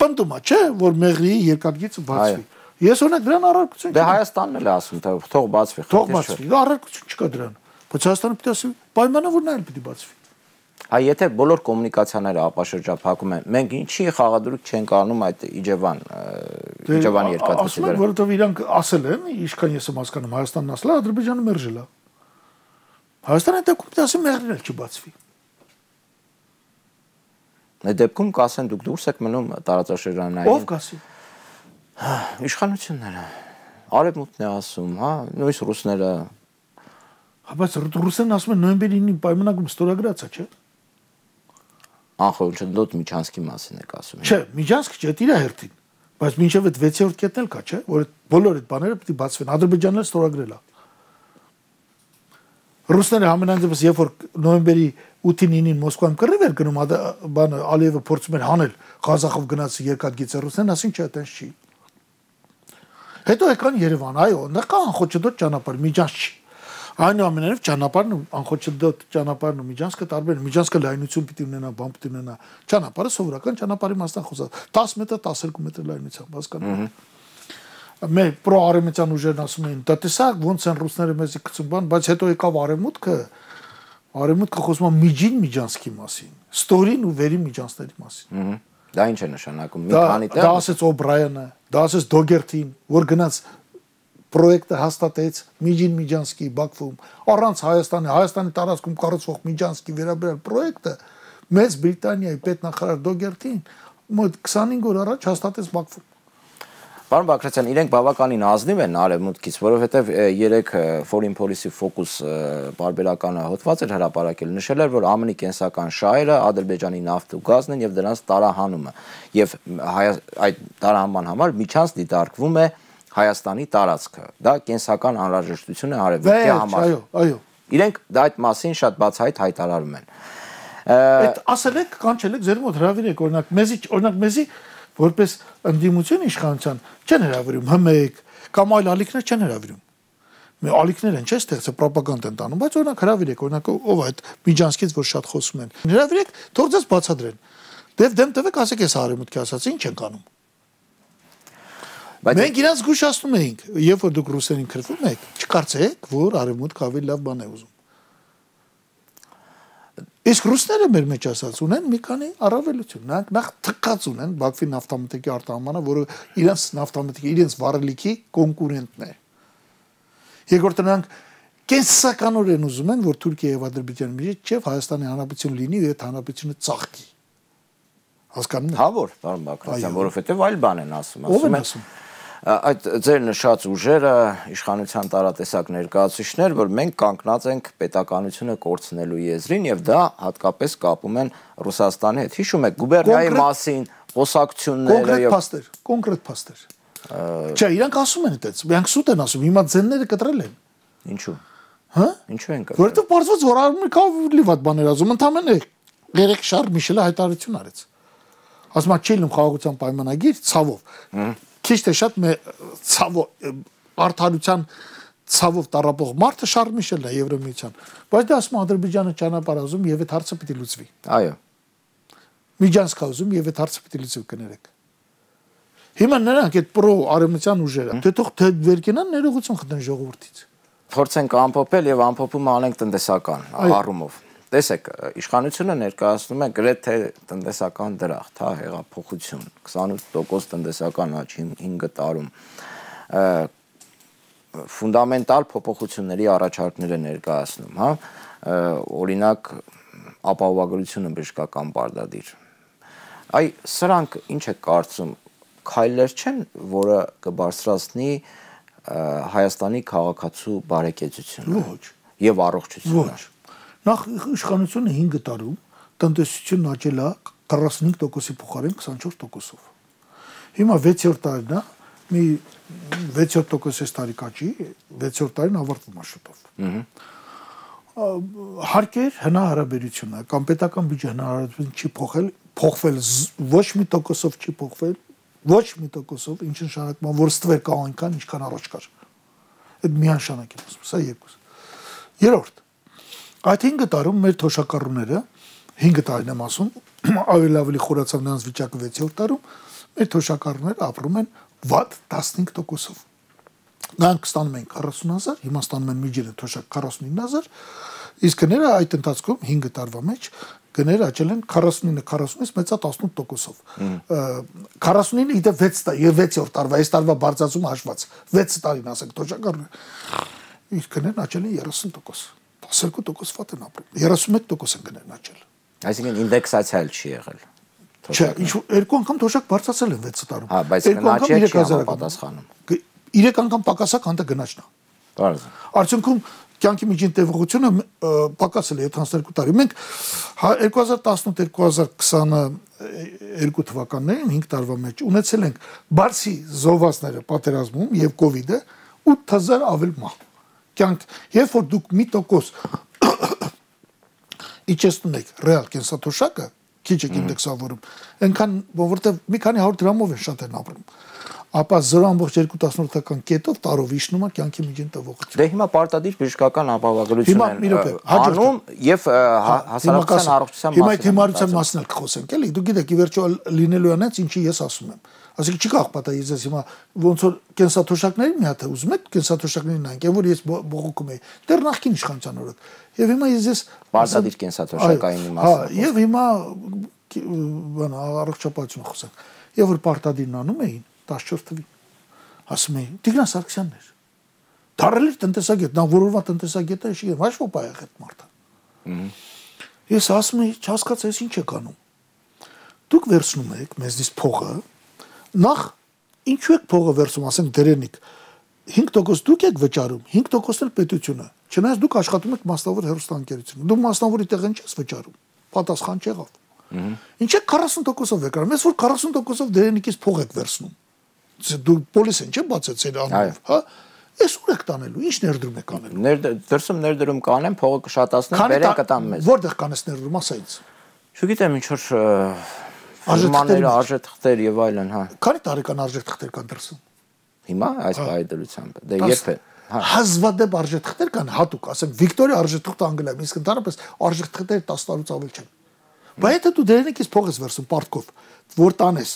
պնդում է, չէ, որ Մեղրիի երկաթգիծը բացվի։ Ես օրինակ դրան առարկություն չունեմ։ Դե Հայաստանն էլ ասում, թող բացվի։ Թող բացվի, առարկություն չկա դրան։ Բայց Հայաստանը պիտի ասի, պայմանը որ նա էլ պիտի բացվի։ Այ եթե բոլոր կոմունիկացիաները ապաշրջափակում են, մենք ինչի խաղադրույք չենք անում այդ Իջևանի երկաթգծի վրա։ Որովհետև իրանք ասել են, ինչքան ես եմ հասկանում, Հայաստանն ասել է, Ադրբեջանը մերժել է։ Հայաստանը դեպքում պիտի ասի Մեղրին էլ չբացվի։ Այդ դեպքում կասեն դուք դուրս եք մնում տարածաշրջանային։ Ով կասի։ Իշխանությունները։ Արևմուտքն է ասում, հա, նույնիսկ ռուսները։ Բայց ռուսերն ասում են նոյեմբերի 9-ի պայմանագիրը ստորագրած է, չէ՞։ անխոչնդոտ Միջանցքի մասին եք ասում։ Չէ, Միջանցքը չէ, իր հերթին, բայց մինչև այդ 6-րդ կետն էլ կա, չէ, որ բոլոր այդ բաները պետք է բացվեն։ Ադրբեջանն էլ ստորագրել է։ Ռուսները համենայնդեպս երբ որ նոյեմբերի 8-9-ին Մոսկվայում կռիվ էր գնում, բանը Ալիևը փորձում էր հանել Ղազախով գնաց երկաթգիծը, ռուսներն ասին չէ, այտենց չի։ Հետո եկան Երևան, այո, նա կա անխոչնդոտ ճանապարհ, Միջանց չի։ Այնուամենայնիվ ճանապարհն ու անխոչնդոտ ճանապարհն ու Միջանցքը տարբեր են։ Միջանցքը լայնություն պիտի ունենա, բան պիտի ունենա։ Ճանապարհը սովորական ճանապարհի մասն խոսած 10 մետր, 12 մետր լայնությամբ, հասկանում եք։ Մեր պրոարևմտյան ուժերն ասում էին, դա տեսակ ոնց են ռուսները մեզի գցում բան, բայց հետո եկավ արևմուտքը խոսում է միջին Միջանցքի մասին, ստորին ու վերին Միջանցների մասին։ Դա ինչ է նշանակում։ Մի քանի տեղ։ Դա ասեց Օբրայանը, դա ասեց Դոգերտին, որ գնաց պրոյեկտը հաստատեց Միջին Միջանցքի Բաքվում, առանց Հայաստանի տարածքում կառուցվող Միջանցքի վերաբերյալ պրոյեկտը Մեծ Բրիտանիայի պետնախարար Դոգերտին մոտ 25 օր առաջ հաստատեց Բաքվում։ Պարոն Բագրատյան, իրենք բավականին ազնիվ են արևմուտքից, որովհետև երեք Foreign Policy Focus բարբերականը հոդված էր հրապարակել, նշել էր, որ ԱՄՆ-ի կենսական շահերը Ադրբեջանի նավթ ու գազն են եւ դրանց տարահանումը, եւ այդ տարահանման համար միջանց դիտարկվում է Հայաստանի տարածքը։ Դա կենսական անհրաժեշտություն է արևմուտքի համար։ Այո։ Իրենք դա այդ մասին շատ բացահայտ հայտարարում են։ Այդ ասել եք, կանչել եք, ձեր մոտ հրավիրեք, օրինակ մեզի որպես ընդդիմություն իշխանության չեն հրավիրում, ՀՄԵԿ կամ այլ ալիքներ չեն հրավիրում։ Մեր ալիքներ են, չէ՞, ստեղծել ռոպագանդ են տանում, բայց օրինակ հրավիրեք, օրինակ ով այդ Միջանցքից որ շատ խոսում են։ Հրավիրեք, թող ձեզ բացատրեն։ Դեմ տվեք, ասեք, ես արևմուտքի ասած ինչ են կանում։ Մենք իրենց զգուշացնում էինք, երբ որ դուք ռուսերին քրվում եք, չկարծեք, որ արևմուտքը ավելի լավ բան է ուզում։ Իսկ ռուսները մեր մեջ ասած ունեն մի քանի առավելություն, նախ թքած ունեն Բաքվի նավթամթերքի արտահանմանը, որը իրենց նավթամթերքի, իրենց վառելիքի կոնկուրենտն է։ Երկրորդը նրանք կենսականորեն ուզում են, որ Թուրքիա եւ Ադրբեջանի միջեւ չէ Հայաստանի Հանրապետություն լինի ու այդ հանրապետությունը ծաղկի։ Հասկանում եք։ Հա որ, պարոն Բագրատյան, որովհետեւ այլ բան են ասում, Ո՞վ են ասում։ Այդ ձեր նշած ուժերը իշխանության տարատեսակ ներկայացուցիչներ, որ մենք կանգնած ենք պետականությունը կորցնելու եզրին եւ դա հատկապես կապում են Ռուսաստանի հետ։ Հիշում եք գուբերնիայի մասին խոսակցությունները կոնկրետ փաստեր։ Չէ, իրանք ասում են այդպես, իրանք սուտ են ասում, հիմա ձենները կտրել են։ Ինչու։ Հա։ Ինչու են կտրել։ Որովհետեւ բարձված որ արմիկով լիվատ բաներ ասում, ընդամենը երեք շարժ Միշելը հայտարարություն արեց։ Ասում է չի լինում խաղաղության պայմանագիր ցավով։ Քիչ թե շատ արդարության ցավով տարապող մարդը Շարլ Միշելն է Եվրոմիության, բայց դա ասում Ադրբեջանը ճանապարհ ուզում եւ այդ հարցը պիտի լուծվի։ Այո։ Միջանցք ուզում եւ այդ հարցը պիտի լուծվի կներեք։ Հիմա նրանք այդ պրո-արևմտյան ուժերը, թե թող վեր կենան ներողություն խնդրեն ժողովրդից։ Փորձենք ամփոփել եւ ամփոփումը անենք տնտեսական առումով։ Տեսեք, իշխանությունը ներկայացնում է գրեթե տնտեսական դրախտ, հա, հեղափոխություն, 28% տնտեսական աճ 5 տարում։ Ֆունդամենտալ փոփոխությունների առաջարկներ է ներկայացնում, հա, օրինակ ապահովագրությունը բժշկական պարտադիր։ Այ սրանք ինչ է կարծում, քայլեր չեն, որը կբարձրացնի Հայաստանի քաղաքացու բարեկեցությունը եւ առողջությունը։ Նախ իշխանությունը 5 տարում տնտեսությունն աճել է 45%-ի փոխարեն 24%-ով։ Հիմա 6-րդ տարին է, մի 6% տարի կաճի, 6-րդ տարին ավարտվում է շուտով։ Հարկեր հնարավորությունը կամ պետական բյուջե հնարավորություն չի փոխվել ոչ մի տոկոսով չի փոխվել, ոչ մի տոկոսով, ինչ նշանակում է, որ ստվեր կա այնքան, ինչքան առաջ կար։ Այդ միանշանակ եմ ասում, սա երկուս։ Երրորդ, այդ 5 տարում մեր թոշակառուները 5 տարին եմ ասում, ավելի խորացավ նրանց վիճակը 6-րդ տարում, մեր թոշակառուները ապրում են վատ 15%-ով։ Նրանք ստանում են 40,000, հիմա ստանում են միջինը թոշակ 49,000, իսկ գները այդ ընթացքում 5 տարվա մեջ գները աճել են 49-40-ից մեծա 18%-ով։ 49-ը իդե 6 տարի, 6-րդ տարվա, այս տարվա բարձրացումը հաշված, 6 տարին ասենք թոշակառուները։ Իսկ գներն աճել են 30%։ 12% վատ են ապրում, 31% են գներն աճել։ Այսինքն ինդեքսացիա չի եղել։ Չէ, երկու անգամ թոշակ բարձրացել են 6 տարում։ Հա, բայց գնաճը չի համապատասխանում։ 3 անգամ պակասակ հանդը գնաճն է։ Բարձր։ Արդյունքում կյանքի միջին տևողությունը պակասել է 72 տարի։ Մենք 2018-2022 թվականներին 5 տարվա մեջ ունեցել ենք բարձի զոհվածները պատերազմում եւ կովիդը 8000 ավել մահ։ Կյանք, երբ որ դուք 1% իջեցնում եք ռեալ կենսաթոշակը, քիչ եք ինդեքսավորում, այնքան, որովհետեւ մի քանի 100 դրամով են շատ են ապրում։ Ապա 0.2 կետով տարով իջնում է կյանքի միջին տևողությունը։ Դե հիմա պարտադիր բժշկական ապահովագրություն են անում եւ հասարակության առողջության մասին։ Հիմա այդ հիմարության մասին էլ կխոսենք, էլի։ Դուք գիտեք, ի վերջո լինելու է այնց, ինչի ես ասում եմ։ Այսինքն չի կարող պատահի ես հիմա ոնց որ կենսաթոշակների մի հատ ուզում եք կենսաթոշակներին նայենք, այն որ ես բողոքում եի դեռ նախքին իշխանության օրոք։ Եվ հիմա ես պարտադիր կենսաթոշակային մասին։ Եվ հիմա բան առողջապահություն խոսենք։ Եվ որ պարտադիրն անում էին 14 թվին ասում էին Տիգրան Սարգսյանն էր դարել էր տնտեսագետ նա որովա տնտեսագետ է չի ոչ ոք այ այդ մարդը ես ասում եմ չհասկացա ես ինչ եք անում դուք վերցնում եք մեզնից փողը նախ ինչու եք փողը վերցում ասենք դերենիկ 5% դուք եք վճարում 5% էլ պետությունը չնայած դուք աշխատում եք մասնավոր հեռուստաընկերությունում դու մասնավորի տեղն չես վճարում պատասխան չեղավ ինչ եք 40%-ով վճարում ես որ 40%-ով դերենիկից փող եք վերցնում դու պոլիսեն չէ բացեցել անունով, հա? Ես ուր եք տանելու, ինչ ներդրում եք անելու։ Դրսում ներդրում կանեմ, փողը կշատացնեմ, բերեն կտամ մեզ։ Որտեղ կանես ներդրում, ասա ինձ։ Չգիտեմ, ինչ որ արժեթղթեր եւ այլն, հա։ Քանի տարեկան արժեթղթեր կան դրսում։ Հիմա այս բայդրությամբ։ Դե երբ է։ Հազվադեպ արժեթղթեր կան հատուկ, ասենք Վիկտորիա արժեթղթը անգլիայում, իսկ ընդհանրապես արժեթղթերը 10 տարուց ավել չեն։ Բայց եթե դու դերենիկից փող ես վերցում պարտքով, որ տանես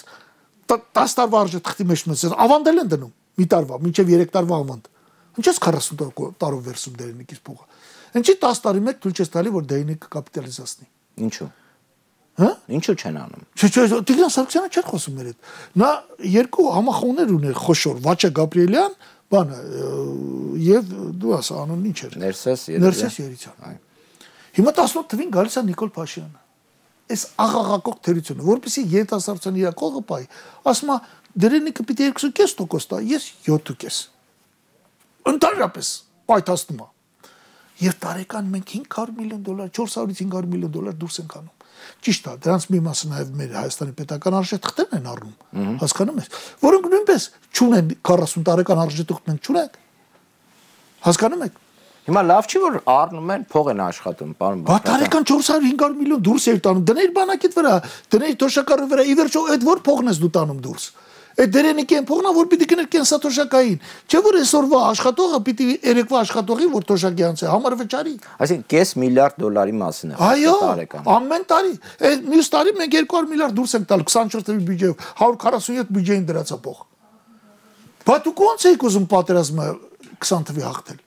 10 տարվա արժեթղթի մեջ մսես, ավանդել են դնում մի տարվա, մինչև 3 տարվա ավանդ։ Ինչ ես 40 տարով վերցում դերենիկից փողը։ Ինչի 10 տարի մեկ թույլ չես տալի, որ դերենիկը կապիտալիզացնի։ Ինչու։ Հա? Ինչու չեն անում։ Տիգրան Սարգսյանը չէր խոսում մեր հետ։ Նա երկու համախոհներ ուներ խոշոր, Վաչե Գաբրիելյան, բանը, եւ դու ասա անունն ինչ էր։ Ներսես Երիցյան։ Հիմա 18 թվին գալիս է Նիկոլ Փաշինյանը։ Այս աղաղակող թերությունը, որպեսզի երիտասարդության իր կողը պայի, ասում է դերենիկը պիտի 2.5% տա, ես 7.5։ Ընդհանրապես պայթացնում է։ Եվ տարեկան մենք $500 միլիոն, $400-ից $500 միլիոն դուրս ենք անում։ Ճիշտ է, դրանց մի մասը նաև մեր Հայաստանի պետական արժեթղթերն են առնում, հասկանում ես, որոնք նույնպես չունեն 40 տարեկան արժեթղթ մենք չունենք։ Հասկանում եք։ Հիմա լավ չի որ առնում են փող են աշխատում, պարոն Բա տարեկան 400-500 միլիոն դուրս էր տանում, դներ բանակիդ վրա, դներ թոշակառու վրա, ի վերջո այդ որ փողն ես դու տանում դուրս։ Այդ դերենիկի են փողնա որ պիտի գներ կենսաթոշակային, չէ որ այսօրվա աշխատողը պիտի երեկվա աշխատողի որ թոշակի անցե, համար վճարի։ Այսինքն $5 միլիարդ մասին է տարեկան։ Այո, ամեն տարի։ Այդ մյուս տարի մենք 200 միլիարդ դուրս ենք տալ 24 թվի բյուջեով, 147 բյուջեին դրացա փող։ Բա դուք ո՞նց եք ուզում պատերազմը 20 թվի հաղթել։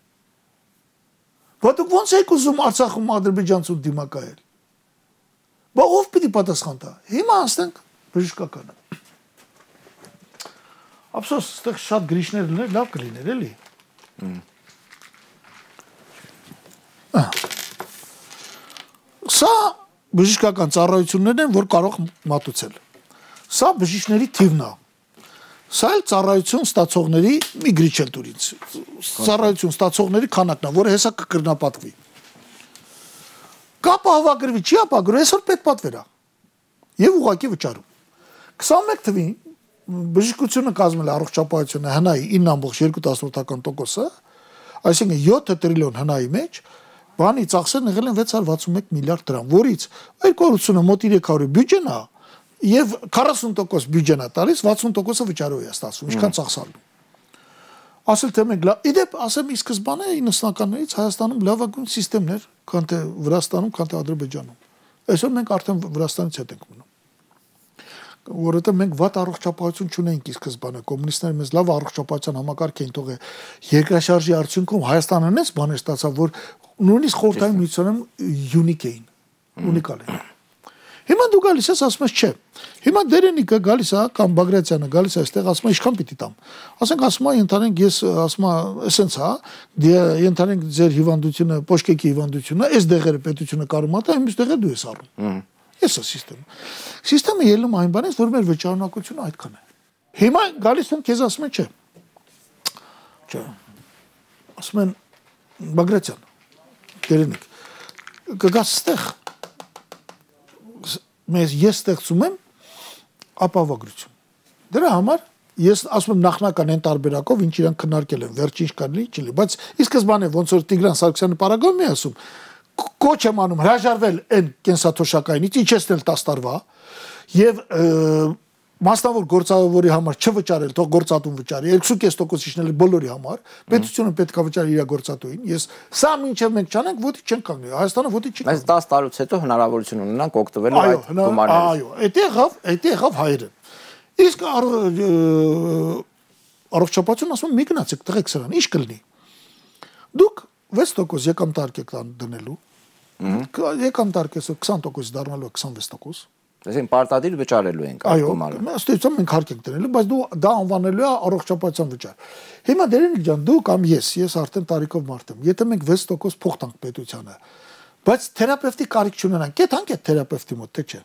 Բա դուք ո՞նց եք ուզում Արցախում ադրբեջանցուն դիմակայել։ Բա ով պիտի պատասխան տա։ Հիմա ասենք բժշկականը։ Ափսոս, այստեղ շատ գրիչներ լիներ, լավ կլիներ, էլի։ Սա բժշկական ծառայություններն են, որ կարող մատուցել։ Սա բժիշկների թիվն է։ Սա էլ ծառայություն ստացողների մի գրիչ էլ դուր ինձ։ Ծառայություն ստացողների քանակն է, որը հեսա կկրնապատվի։ Կապը հավաքրվի, չի ապագրու, այսօր պետք պատվեր է։ Եվ ուղղակի վճարում։ 21 թվին բժշկությունը կազմել է առողջապահությունը հնայի 9.2%, այսինքն 7 տրիլիոն հնայի մեջ բանի ծախսերն եղել են 661 միլիարդ դրամ, որից 280-ը մոտ 300 բյուջեն է եւ 40% բյուջեն է տալիս, 60%-ը վճարով է ստացվում, ինչքան ծախսալու։ Ասել թե մենք իդեպ ասեմ ի սկզբանե 90-ականներից Հայաստանում լավագույն համակարգեր, քան թե Վրաստանում, քան թե Ադրբեջանում։ Այսօր մենք արդեն Վրաստանից հետ ենք մնում։ Որովհետև մենք վատ առողջապահություն չունենք ի սկզբանե, կոմունիստները մեզ լավ առողջապահության համակարգ էին թողել։ Երկրաշարժի արդյունքում Հայաստանը այնպես բաներ ստացավ, որ նույնիսկ խորհրդային միությունում յունիկ էին, ունիկալ էին։ Հիմա դու գալիս ես ասում ես չէ։ Հիմա դերենիկը գալիս է կամ Բագրատյանը գալիս է այստեղ ասում է ինչքան պիտի տամ։ Ասենք ասում է ընդհանրենք ես ասում է էսենց հա, ընդհանրենք ձեր հիվանդությունը, պոշկեկի հիվանդությունը, այս դեղերը պետությունը կարող է տա, իմս դեղը դու ես առնում։ Ես է սիստեմը։ Սիստեմը ելնում այն բանից, որ մեր վճարունակությունը այդքան է։ Հիմա գալիս են քեզ ասում են չէ։ Չէ։ Ասում են Բագրատյան, գերենիք կգաս ստեղ ես ստեղծում եմ ապահովագրություն դրա համար ես ասում եմ նախնական այն տարբերակով ինչ իրանք քննարկել են վերջին կանլի չլի բայց ի սկզբանե ոնց որ Տիգրան Սարգսյանը парагոն մի ասում կոչ եմ անում հրաժարվել այն կենսաթոշակայինից ինչ էստել 10 տարվա եւ մասնավոր գործավորի համար չվճարել, թող գործատուն վճարի, 2.5% իջնել բոլորի համար, պետությունը պետք է վճարի իր գործատուին։ Ես սա մինչև մենք չանենք, ոդի չենք կանգնի։ Հայաստանը ոդի չի։ Բայց 10 տարուց հետո հնարավորություն ունենանք օգտվելու այդ գումարներից։ Այո, դա եղավ հայերը։ Իսկ առողջապահություն ասում մի գնացեք տղեկ սրան, ինչ կլինի։ Դուք 6% եկամտարկ եք դնելու։ Եկամտարկը 20% դառնալու 26%։ Այսինքն պարտադիր վճարելու ենք այդ գումարը։ Այո, ստեցում մենք հարկ ենք դնելու, բայց դու դա անվանելու է առողջապահության վճար։ Հիմա դերենիկ ջան, դու կամ ես արդեն տարիքով մարդ եմ։ Եթե մենք 6% փող տանք պետությանը, բայց թերապևտի կարիք չունենանք, կեթանք այդ թերապևտի մոտ, թե չէ։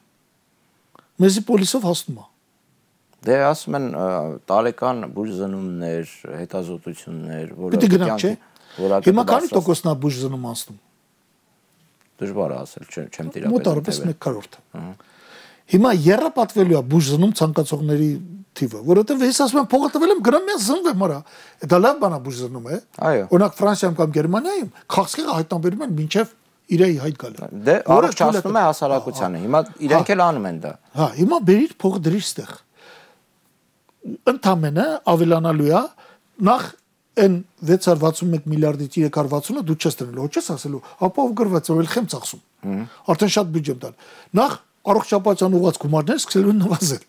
Մեզի պոլիսով հասնում է։ Դե ասում են տարեկան բուժզնումներ, հետազոտություններ, որը պիտի գնանք, չէ։ Հիմա քանի տոկոսն է բուժզնում անցնում։ Դժվար է ասել, չեմ տիրապետել։ Մոտավորապես 1/4։ Հիմա երրապատվելու է բուժզնում ցանկացողների թիվը, որովհետև ես ասում եմ փողը տվել եմ գնամ ես զնվեմ արա։ Դա լավ բան է բուժզնում է։ Օրինակ Ֆրանսիայում կամ Գերմանիայում քաղցկեղը հայտնաբերում են մինչև իրայի հայտ գալը։ Դե առողջացնում է հասարակությանը։ Հիմա իրենք էլ անում են դա։ Հա, հիմա բերիր փողը դրիր ստեղ։ Ընդամենը ավելանալու է նախ այն 661 միլիարդից 360-ը դու չես դնելու, չես ասելու, ապա ով գրված է, ել խեմ ծախսում։ Արդեն շատ բյուջե եմ տալ։ Նախ առողջապահության ուղղված գումարները սկսելու են նվազել,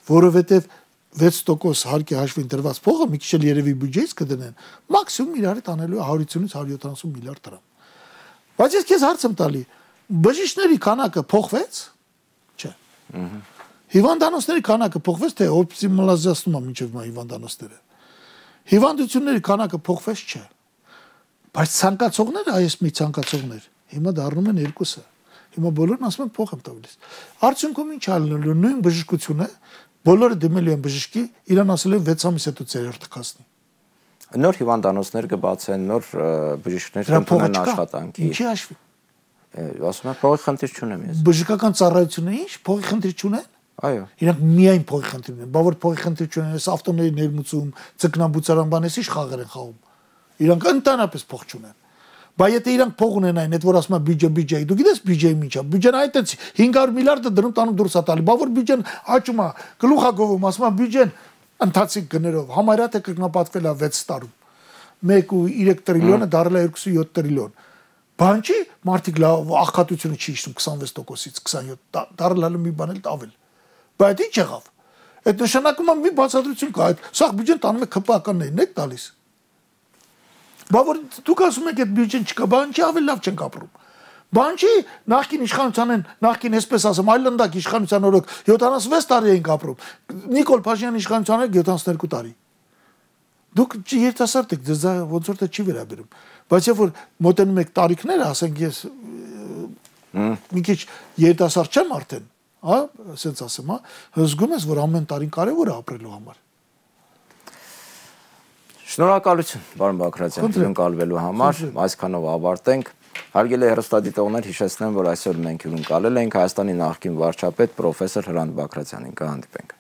որովհետև 6% հարկի հաշվին դրված փողը մի քիչ էլ երևի բյուջեից կդնեն, մաքսիմում իր հետ անելու է 150-ից 170 միլիարդ դրամ։ Բայց ես քեզ հարց եմ տալի, բժիշկների քանակը փոխվեց, չէ։ Հիվանդանոցների քանակը փոխվեց, թե օպտիմալիզացնում է մինչև հիվանդանոցները։ Հիվանդությունների քանակը փոխվեց, չէ։ Բայց ցանկացողները, այս մի ցանկացողներ, հիմա դառնում են երկուսը։ Հիմա բոլորն ասում են փող եմ տալիս։ Արդյունքում ինչ ալնելու նույն բժշկությունը, բոլորը դիմելու են բժշկի, իրան ասել են 6 ամիս հետո ծերերթ կասնի։ Նոր հիվանդանոցներ կբացեն, նոր բժիշկներ կընտրեն աշխատանքի։ Ինչի հաշվի։ Ասում եմ փողի խնդիր չունեմ ես։ Բժշկական ծառայությունը ինչ, փողի խնդիր չունեն։ Այո։ Իրանք միայն փողի խնդիր ունեն, բա որ փողի խնդիր չունեն, այս ավտոների ներմուծում, ցկնաբուծարան բանես ինչ խաղեր են խաղում։ Իրանք ընդհանրապես փող չունեն։ Բայց եթե իրանք փող ունենային, այդ որ ասում է բյուջե, դու գիտես բյուջեի ինչ է, բյուջեն այդտենց 500 միլիարդը դնում տանում դուրս է տալի, բա որ բյուջեն աճում է, գլուխագովում, ասում է բյուջեն ընթացիկ գներով, համարյա թե կրկնապատկվել է 6 տարում։ 1.3 տրիլիոնը դարել է 2.7 տրիլիոն։ Բան չի, մարդիկ լավ աղքատությունը չի իջնում 26%-ից 27, դարել մի բան էլ տավել։ Բայց ինչ եղավ։ Այդ նշանակում է մի բացատրություն կա, այդ սա բյուջեն տանում է ԿՊԱ-ականներին, եք տալիս։ Բա որ դուք ասում եք այդ բյուջեն չկա, բան չի ավելի լավ չենք ապրում։ Բան չի նախկին իշխանության են, նախկին այսպես ասեմ, այլանդակ իշխանության օրոք 76 տարի ենք ապրում։ Նիկոլ Փաշինյանի իշխանության օրոք 72 տարի։ Դուք երիտասարդ եք, ձեզ ոնց որ դա չի վերաբերում։ Բայց երբ որ մոտենում եք տարիքները, ասենք ես մի քիչ երիտասարդ չեմ արդեն, հա, ասենց ասեմ, հա, զգում ես, որ ամեն տարին կարևոր է ապրելու համար։ Շնորհակալություն, պարոն Բագրատյան, հյուրընկալվելու համար, այսքանով ավարտենք։ Հարգելի հեռուստադիտողներ, հիշեցնեմ, որ այսօր մենք հյուրընկալել ենք Հայաստանի նախկին վարչապետ պրոֆեսոր Հրանտ Բագրատյանին, կհանդիպենք։